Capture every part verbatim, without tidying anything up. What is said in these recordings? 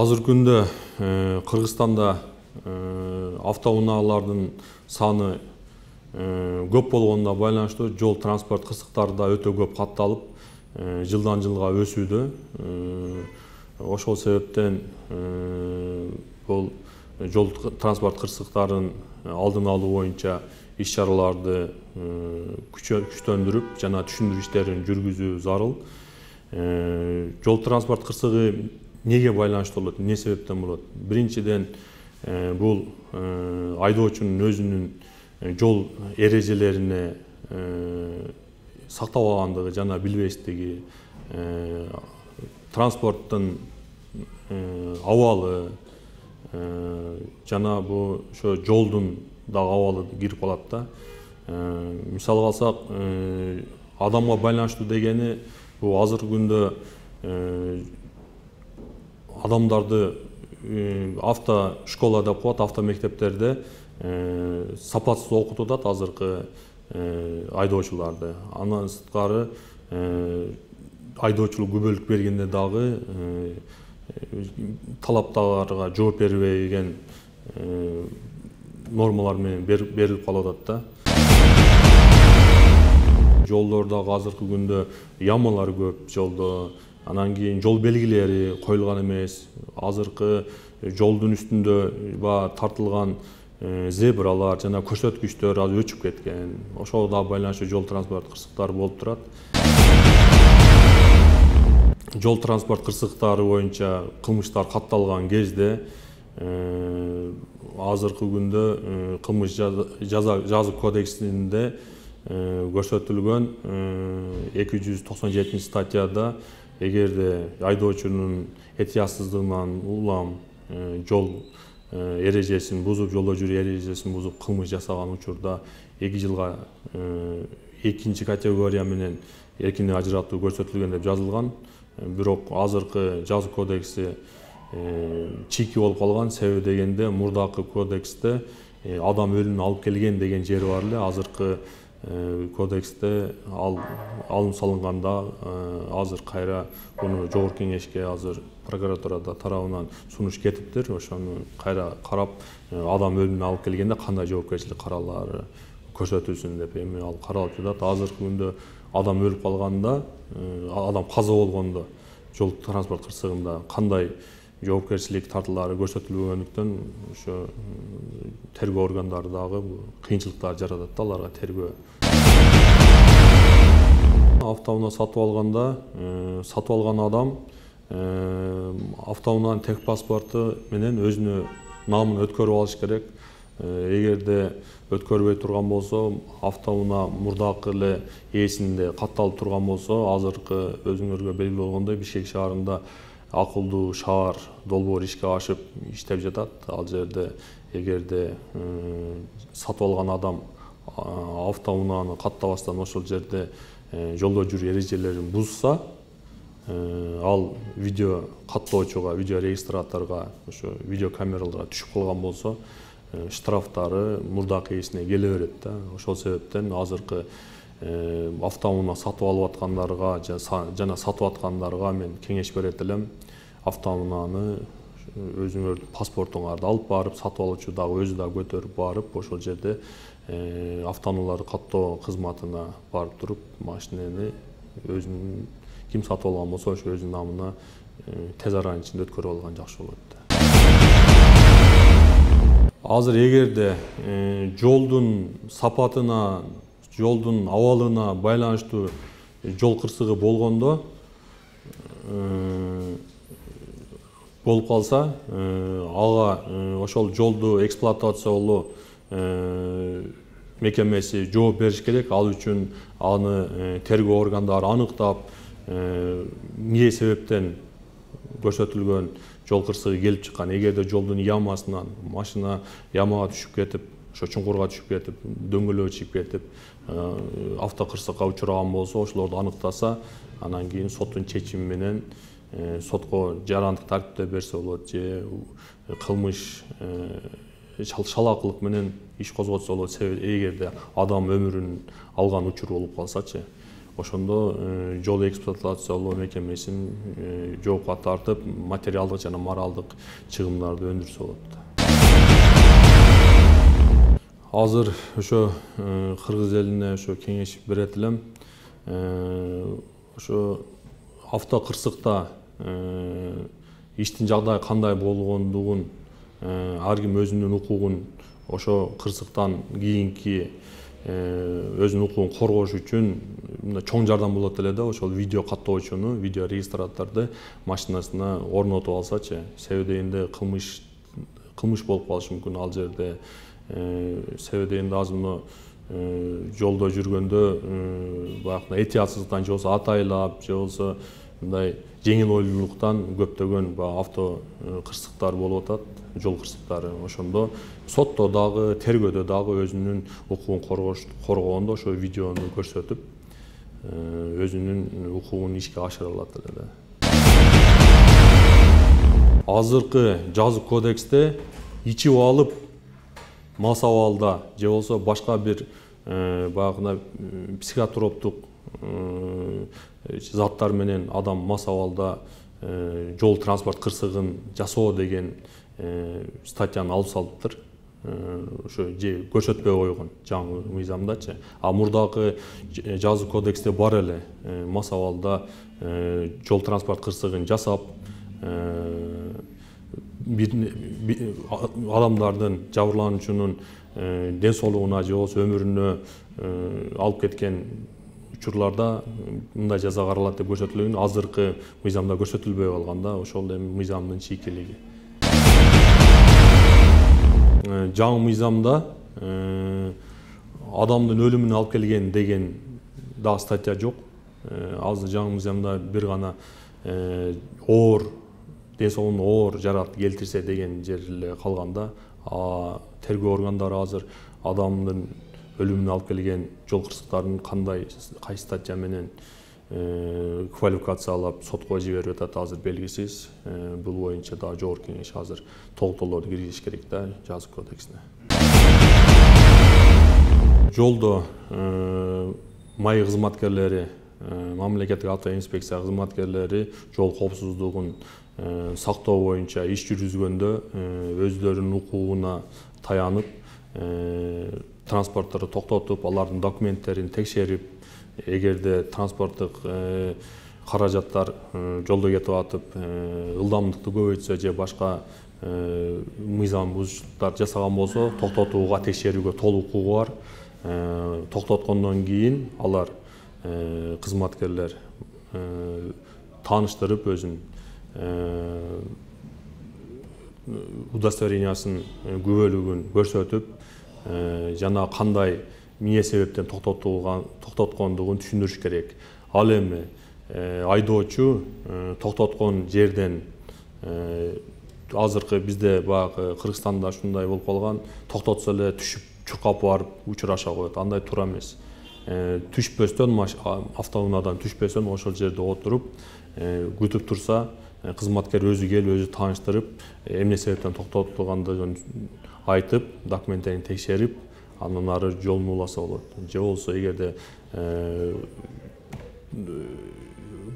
Азыр күндө Кыргызстанда автоунаалардын саны көп болгонуна байланыштуу жол транспорт кырсыктары да өтө көп катталып, жылдан жылга өсүүдө. Ошол себептен бул жол транспорт кырсыктарын алдын алуу боюнча иш-чараларды күчтөндүрүп жана түшүндүрүү иштерин жүргүзүү зарыл. Жол транспорт кырсыгы неге байланыштуу болот, эмне себептен болот? Биринчиден, бул айдоочунун өзүнүн жол эрежелерине сактабагандыгы жана билбестиги, транспорттун абалы жана бул ошо жолдун дагы абалы кирип калат да. Мисалга алсак, адамга байланыштуу дегени бул азыркы күндө адамдарды авто школа деп коет, авто мектептерде сапатсыз окутуп атат азыркы айдоочуларды. Андан сырткары айдоочулук күбөлүк бергенде дагы талаптарга жооп бербеген нормалар менен берилип калып атат да. Жолдордогу азыркы күндө ямалар көп жолдо. Анан кийин жол белгилери коюлган эмес. Азыркы жолдун үстүндө баягы тартылган зебралар жана көрсөткүчтөр аз өчүп кеткен. Ошого да байланыштуу жол транспорт кырсыктары болуп турат. Жол транспорт кырсыктары боюнча кылмыштар катталган кезде азыркы күндө кылмыш жаза кодексинде көрсөтүлгөн эки жүз токсон жетинчи статьяда эгерде айдоочунун этиясыздыгынан улам жол эрежесин бузуп, жолдо жүрүү эрежесин бузуп кылмыш жасаган учурда эки жылга экинчи категория менен эркиндик ажыратуу көрсөтүлгөн деп жазылган. Бирок азыркы жаза кодекси чийки болуп калган. Себеби дегенде мурдакы кодексте адам өлүмүн алып келген деген жери бар эле. Азыркы кодексте ал алым салынганда азыр кайра буну жогорку кеңешке азыр прокуратурада тарабынан сунуш кетиптир. Ошону кайра карап адам өлүмүн алып келгенде кандай жоопкерчилик каралары көрсөтүлсүн деп эми ал каралып жатат. Азыркы күндө адам өлүп калганда, адам каза болгондо жол транспорт кырсыгында кандай жоопкерчилик тартуулары көрсөтүлбөгөндүктөн ошо тергөө органдары дагы кыйынчылыктар жаратат да аларга тергөө. Автоунаа сатып алганда, сатып алган адам автоунаанын тех паспорту менен өзүнө намын өткөрүп алыш керек. Эгерде өткөрбөй турган болсо, автоунаа мурдакы эле ээсинде катталып турган болсо, азыркы өзүңөргө белгилүү болгондой Бишкек шаарында акылдуу шаар долбоор ишке ашып иштеп жатат. Ал жерде эгерде сатып алган адам автоунааны каттабастан ошол жерде жолдо жүрүү эрежелерин бузса, ал видео каттоочуга, видео регистраторго, ошо видео камераларга түшүп калган болсо, штрафтары мурдакы ээсине келе берет да. Ошол себептен азыркы автоунаа сатып алып аткандарга жана сатып аткандарга мен кеңеш берет элем. Автоунааны өзүңөрдүн паспортуңарды алып барып, сатып алуучу дагы өзү дагы көтөрүп барып, ошол жерде автоунааларды каттоо кызматына барып туруп, машинени өзүнүн ким сатып алган болсо, ошо өзүнүн намына тез аранын ичинде өткөрүп алган жакшы болот. Азыр эгерде жолдун сапатына, жолдун абалына байланыштуу жол кырсыгы болгондо, болуп калса, ага ошол жолду эксплуатациялоо мекемеси жооп бериш керек. Ал үчүн аны тергөө органдары аныктап, эмне себептен көрсөтүлгөн жол кырсыгы келип чыккан. Эгерде жолдун ямасынан машина ямага түшүп кетип, ошо чуңкурга түшүп кетип, дөңгөлөгү чыгып кетип, автокырсыкка учураган болсо, ошолорду аныктаса, анан кийин соттун чечими менен сотко жарандык тартипте берсе болот, же кылмыш шалаакылык менен иш козготсо болот. Себеби эгерде адам өмүрүн алган учур болуп калсачы. ошондо жол эксплуатациялоо мекемесин жоопко тартып, материалдык жана моралдык чыгымдарды өндүрсө болот. Азыр ошо кыргыз элине ошо кеңеш берет элем. Ошо автокырсыкта иштин жагдайы кандай болгондугун, ар ким өзүнүн укугун ошо кырсыктан кийинки өзүнүн укугун коргош үчүн чоң жардам болот эле да, ошол видео каттоочуну, видео регистраторду машинасына орнотуп алсачы, себеби дегенде кылмыш кылмыш болуп калышы мүмкүн ал жерде. Себеби дегенде азыр мына жолдо жүргөндө баягы этиятсыздыктан же болбосо атайлап, же болбосо мындай жеңил ойлуулуктан көптөгөн авто кырсыктар болуп атат, жол кырсыктары. Ошондо сотто дагы, тергөөдө дагы өзүнүн укугун коргогондо ошо видеону көрсөтүп, өзүнүн укугун ишке ашыра алат эле. Азыркы жазык кодексте ичип алып мас абалда же болбосо башка бир баягы психотроптук заттар менен адам мас абалда жол транспорт кырсыгын жасоо деген статьяны алып салыптыр. Ошо же көрсөтпөй койгон жаңы мыйзамдачы. А мурдагы жазык кодексте бар эле мас абалда жол транспорт кырсыгын жасап, адамдардын, жабырлануучунун ден соолугуна же болбосо өмүрүнө алып кеткен учурларда мындай жаза каралат деп көрсөтүлгөн. Азыркы мыйзамда көрсөтүлбөй калган да, ошол эми мыйзамдын чийкилиги. Жаңы мыйзамда адамдын өлүмүнө алып келген деген дагы статья жок. Азыр жаңы мыйзамда бир гана оор, ден соолугуна оор жаракат келтирсе деген жер эле калганда, тергөө органдары азыр адамдын өлүмүнө алып келген жол кырсыктарын кандай, кайсы статья менен квалификациялап сотко жиберип атат азыр белгисиз. Бул боюнча дагы жогорку кеңеш азыр толуктоолорду киргизиш керек да жазык кодексине. Жолдо маи кызматкерлери, мамлекеттик авто инспекция кызматкерлери жол коопсуздугун сактоо боюнча иш жүргүзгөндө өздөрүнүн укугуна таянып, транспортторду токтотуп, алардын документтерин текшерип, эгерде транспорттук каражаттар жолдо кетип атып, ылдамдыкты көбөйтсө же башка мыйзам бузуштуктар жасаган болсо, токтотууга, текшерүүгө толук укугу бар. Токтоткондон кийин алар кызматкерлер тааныштырып өзүн удостоверениясын күбөлүгүн көрсөтүп, жана кандай эмне себептен токтоткондугун түшүндүрүш керек. Ал эми айдоочу токтоткон жерден азыркы бизде баягы Кыргызстанда ушундай болуп калган, токтотсо эле түшүп чуркап барып учураша коет. Андай туура эмес. Түшпөстөн, автоунаадан түшпөстөн ошол жерде отуруп күтүп турса, кызматкер өзү келип, өзү тааныштырып, эмне себептен токтотулгандыгын айтып, документтерин текшерип, андан ары жолун уласа болот. Же болбосо эгерде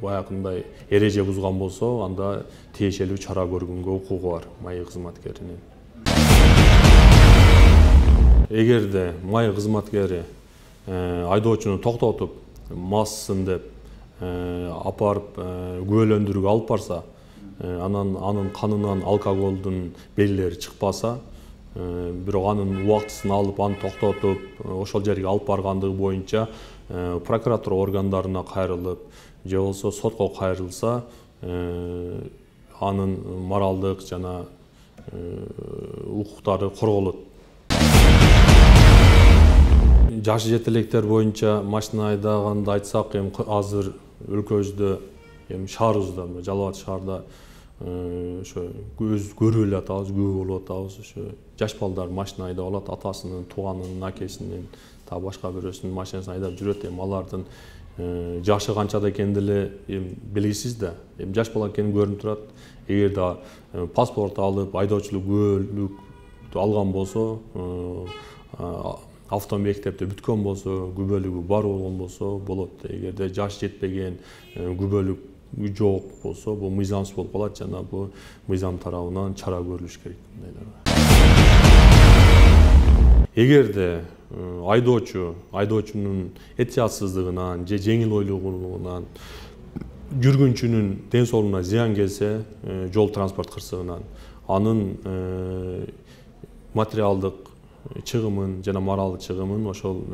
баягындай эреже бузган болсо, анда тиешелүү чара көргөнгө укугу бар маи кызматкеринин. Эгерде маи кызматкери айдоочуну токтотуп, массын деп апарып күбөлөндүрүүгө алып барса, анан анын канынан алкоголдун белгилери чыкпаса, бирок анын убактысын алып, аны токтотуп, ошол жерге алып баргандыгы боюнча прокуратура органдарына кайрылып, же болбосо сотко кайрылса, анын моралдык жана укуктары корголот. Жашы жете электер боюнча машина айдаганды айтсак, эми азыр өлкөбүздө, эми шаарыбызда, Жалал Абад шаарда ошо көз көрүп эле атабыз, күбө болуп атабыз. Ошо жаш балдар машина айдап алат, атасынын, тууганынын, акесинин, та башка бирөөсүнүн машинасын айдап жүрөт. Эми алардын жашы канчада экени деле белгисиз да. Эми жаш бала экени көрүнүп турат. Эгерде паспорт алып, айдоочулук күбөлүктү алган болсо, автомектепте бүткөн болсо, күбөлүгү бар болгон болсо болот. Эгерде жаш жетпеген, күбөлүк жок болсо, бул мыйзамсыз болуп калат жана бул мыйзам тарабынан чара көрүлүш керек. Эгерде айдоочу, айдоочунун этиятсыздыгынан же жеңил ойлогонунан жүргүнчүнүн ден соолугуна зыян келсе, жол транспорт кырсыгынан анын материалдык чыгымын жана моралдык чыгымын ошол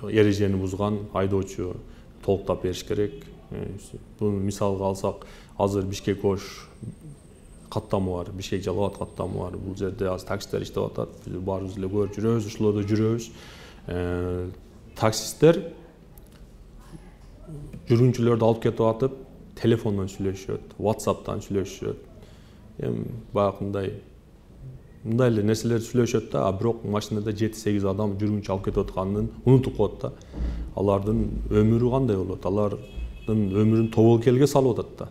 эрежени бузган айдоочу толуктап бериш керек. Буну мисалга алсак, азыр Бишкек Ош каттамы бар, Бишкек Жалал Абад каттамы бар. Бул жерде азыр таксисттер иштеп атат. Биз баарыбыз эле көрүп жүрөбүз, ошолордо жүрөбүз. Таксисттер жүргүнчүлөрдү алып кетип атып, телефондон сүйлөшөт, WhatsApp'тан сүйлөшөт. Эми баягындай мындай эле нерселерди сүйлөшөт да, а бирок машинада жети-сегиз адам жүргүнчү алып кетип атканын унутуп коет да. Алардын өмүрү кандай болот? Алардын өмүрүн тобокелге салып атат да.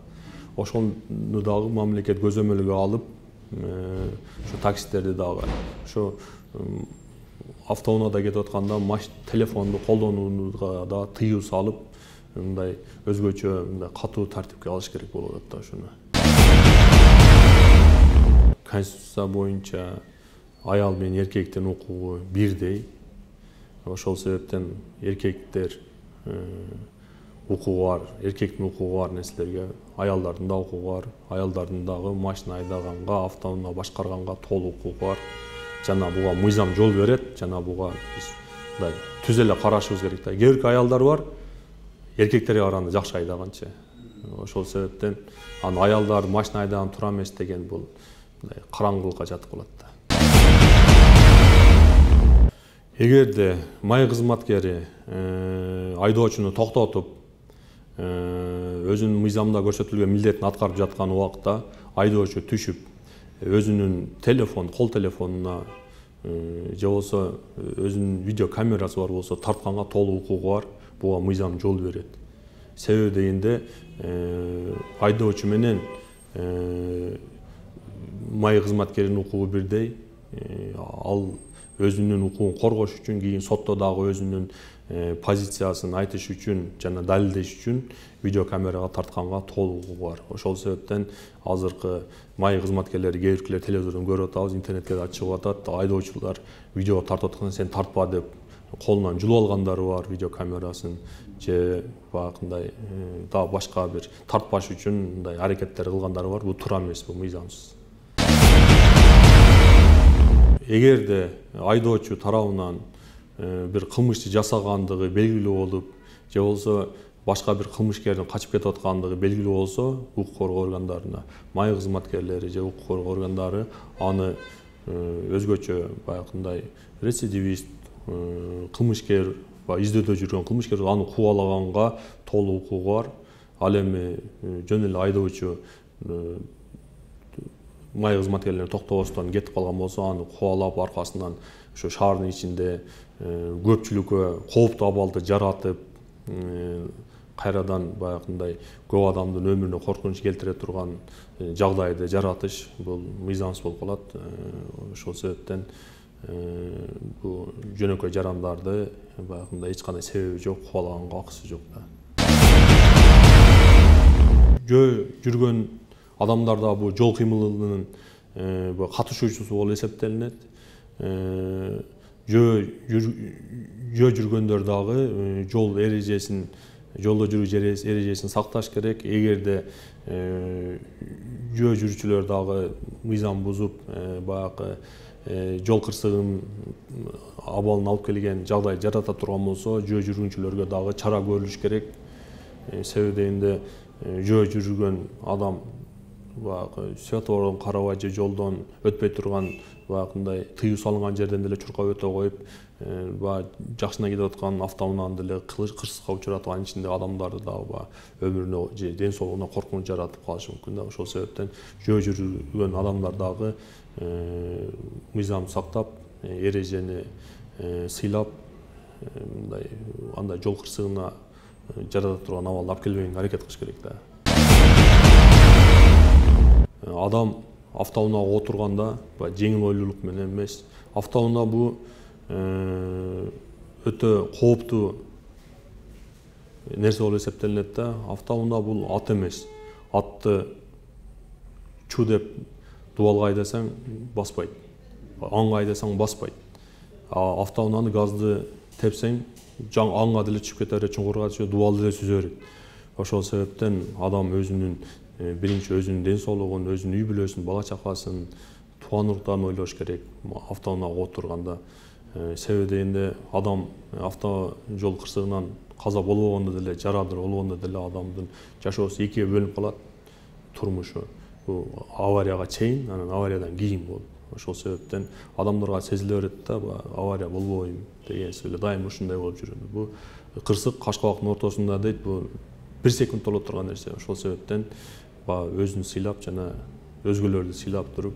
Ошону дагы мамлекет көзөмөлгө алып, ошо таксисттерди дагы ошо автоунаада кетип атканда телефонду колдонууга да тыюу салып, мындай өзгөчө мындай катуу тартипке алыш керек болуп атат да ошону. Конституция боюнча аял менен эркектин укугу бирдей. Ошол себептен эркектер укугу бар, эркектин укугу бар нерселерге аялдардын да укугу бар. Аялдардын дагы машина айдаганга, автоунаа башкарганга толук укугу бар. Жана буга мыйзам жол берет, жана буга биз мындай түз эле карашыбыз керек да. Кээ бир аялдар бар, эркектерге караганда жакшы айдаганчы. Ошол себептен аны аялдар машина айдаган туура эмес деген бул мындай караңгылыкка жатып калат да. Эгерде май кызматкери айдоочуну токтотуп, өзүнүн мыйзамда көрсөтүлгөн милдетин аткарып жаткан убакта айдоочу түшүп, өзүнүн телефон, кол телефонуна же болбосо өзүнүн видео камерасы бар болсо тартканга толук укугу бар. Буга мыйзам жол берет. Себеби дегенде айдоочу менен май кызматкеринин укугу бирдей. Ал өзүнүн укугун коргош үчүн, кийин сотто дагы өзүнүн позициясын айтыш үчүн жана далилдеш үчүн видеокамерага тартканга толук укугу бар. Ошол себептен азыркы май кызматкерлери кээ биркилер телевизордон көрүп атабыз, интернетке да чыгып атат. Айдоочулар видео тартып атканда сен тартпа деп колунан жулуп алгандары бар видеокамерасын, же баягындай дагы башка бир тартпаш үчүн мындай аракеттер кылгандары бар. Бул туура эмес, бул мыйзамсыз. Эгерде айдоочу тарабынан бир кылмышты жасагандыгы белгилүү болуп, же болбосо башка бир кылмышкердин качып кетип аткандыгы белгилүү болсо, укук коргоо органдарына май кызматкерлери же укук коргоо органдары аны өзгөчө баягындай рецидивист, кылмышкер, издөдө жүргөн кылмышкер аны кубалаганга толук укугу бар. Ал эми жөн эле айдоочу май кызматкерлерин токтобостон кетип калган болсо, аны кубалап аркасынан ошо шаардын ичинде көпчүлүккө кооптуу абалды жаратып, кайрадан баягындай көп адамдын өмүрүнө коркунуч келтире турган жагдайды жаратыш бул мыйзамсыз болуп калат. Ошол себептен бул жөнөкөй жарандарды баягындай эч кандай себеби жок, кубалаганга акысы жок да. Жөө жүргөн адамдар да бул жол кыймылынын катышуучусу болуп эсептелинет. Жөө жүргөндөр дагы жол эрежесин, жолдо жүрүү эрежесин сакташ керек. Эгерде жөө жүрүүчүлөр дагы мыйзам бузуп, баягы жол кырсыгын абалын алып келген жагдай жарата турган болсо, жөө жүргүнчүлөргө дагы чара көрүлүш керек. Себеби дегенде жөө жүргөн адам баягы светофордон карабай же жолдон өтпөй турган баягындай тыюу салынган жерден деле чуркап өтө коюп, баягы жакшына кетип аткан автоунааны деле кырсыкка учуратып, анын ичиндеги адамдарды дагы өмүрүнө же ден соолугуна коркунуч жаратып калышы мүмкүн да. Ошол себептен жөө жүргөн адамдар дагы мыйзамды сактап, эрежени сыйлап, мындай андай жол кырсыгына жарата турган абалды алып келбегенге аракет кылыш керек да. Адам автоунаага отурганда жеңил ойлуулук менен эмес. Автоунаа бул өтө кооптуу нерсе болуп эсептелинет да. Автоунаа бул ат эмес. Атты чу деп дубалга айдасаң баспайт. Аңга айдасаң баспайт. А автоунааны газды тепсең жаң аңга деле чыгып кетер, чуңкурга түшөт, дубалды деле сүзө берет. Ошол себептен адам өзүнүн биринчи өзүнүн ден соолугун, өзүнүн үй бүлөсүн, бала чакасын, тууган уруктарын ойлош керек автоунаага отурганда. Себеби дегенде адам автожол кырсыгынан каза болбогондо деле, жарадыр болгондо деле адамдын жашоосу экиге бөлүнүп калат, турмушу. Бул аварияга чейин, анан авариядан кийин болот. Ошол себептен адамдарга сезиле берет да, авария болбойм деген эле дайым ушундай болуп жүрөт. Бул кырсык Кашкабактын ортосунда дейт, бул бир секунд боло турган нерсе. Ошол себептен өзүн сыйлап жана өзгөлөрдү сыйлап туруп,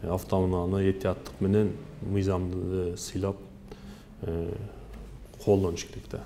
автоунааны этияттык менен, мыйзамды сыйлап колдонуш керек да.